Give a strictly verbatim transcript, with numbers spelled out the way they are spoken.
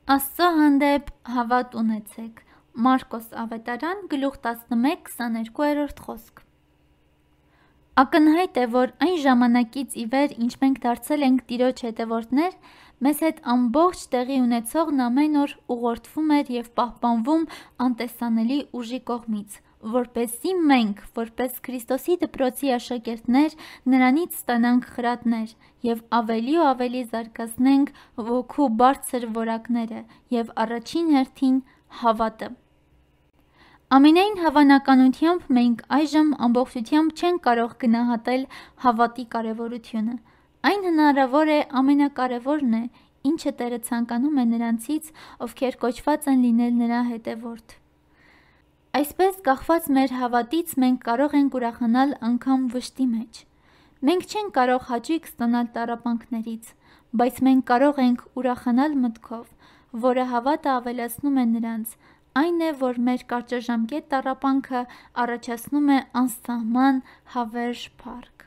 Աստծո հանդեպ հավատ ունեցեք։ Մարկոս ավետարան գլուխ տասնմեկ քսաներկուերորդ խոսք։ Ակնհայտ է, որ այն ժամանակից ի վեր, ինչ մենք դարձել ենք Տիրոջ հետևորդներ, մեզ հետ ամբողջ տեղի ունեցողն ամեն օր ուղղորդվում էր և պահպանվում անտեսանելի ուժի կողմից, որպեսզի մենք, որպես Քրիստոսի դպրոցի աշակերտներ, նրանից ստանանք խրատներ և ավելի ու ավելի զարգացնենք ոգու բարձր որակները և առաջին հերթին հավատը։ Ամենայն հավանականությամբ մենք այժմ ամբողջությամբ չենք կարող գնահատել հավատի կարևորությունը։ Այն հնարավոր է ամենակարևորն է, ինչը Տերը ցանկանում է նրանցից, ովքեր կոչված են լինել նրա հետևորդ։ Այսպես, կախված մեր հավատից, մենք կարող ենք ուրախանալ անգամ վշտի մեջ։ Մենք չենք կարող հաճույք ստանալ տառապանքներից, բայց մենք կարող ենք ուրախանալ մտքով, որը հավատը ավելացնում է նրանց, այն է, որ մեր կարճաժամկետ տառապանքը առաջացնում է անսահման հավերժ փառք։